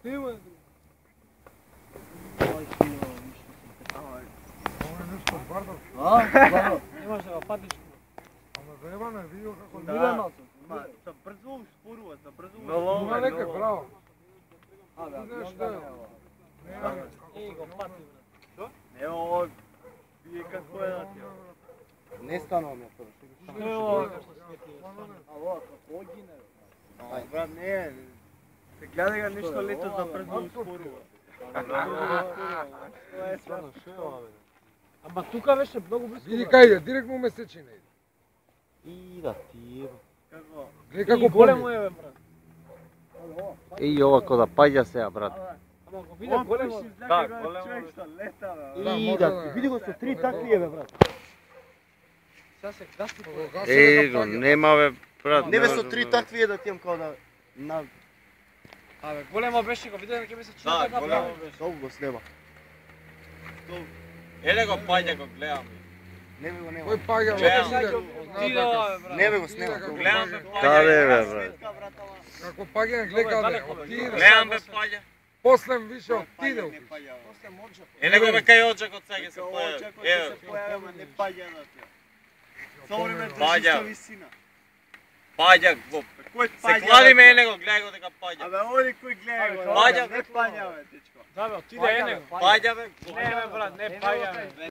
Снима. Имаш да го фатиш. Ама заебано, видио како Да. Са брзо споруваат, са брзо. Има нека, браво. Абе, Знаеш да. Еј, го фати, брат. Ево, вие како е да ти? Не станува ми тоа. Што е ова што свети? Ало, како гине? Брат, не, се гледа га нешто лето за брзо спорува. Ама тука беше многу близко. Види кај е, директно месечина иде. И да ти Како? Гледај Како како големо поле. е, бе, брат. И ова кој да паѓа сега, брат. Ама го виде големо. Да, големо човек што лета, бе. Да, И може да, да е. види го со 3 такви е, бе, брат. Сега се гаси по. Го нема, бе, брат. Не бе со 3 такви е да тијам као да на Абе, големо беше, го виде дека ми се чина Да, така големо прави. беше. долго снема. Еле го паѓа, го гледам. Не бе го нема. Кој паѓа Гледам. Ти да, брат. Не бе го снема. Гледам бе паѓа. Да, бе, брат. Како паѓа гледај, отиде. Гледам бе паѓа. После више отиде. После може. Еле го бе кај оджакот сега се Како појави. очакот ќе се појави, ама не паѓа на тоа. Со време Паѓа. држи со висина. Паѓа го. Кој Се паѓа? клади ме еле го, гледај го дека паѓа. Абе, оди кој гледа го. Паѓа. Не паѓа, бе, дечко. Да, бе, отиде ене. Паѓа бе. Не, бе, брат, не паѓа, бе.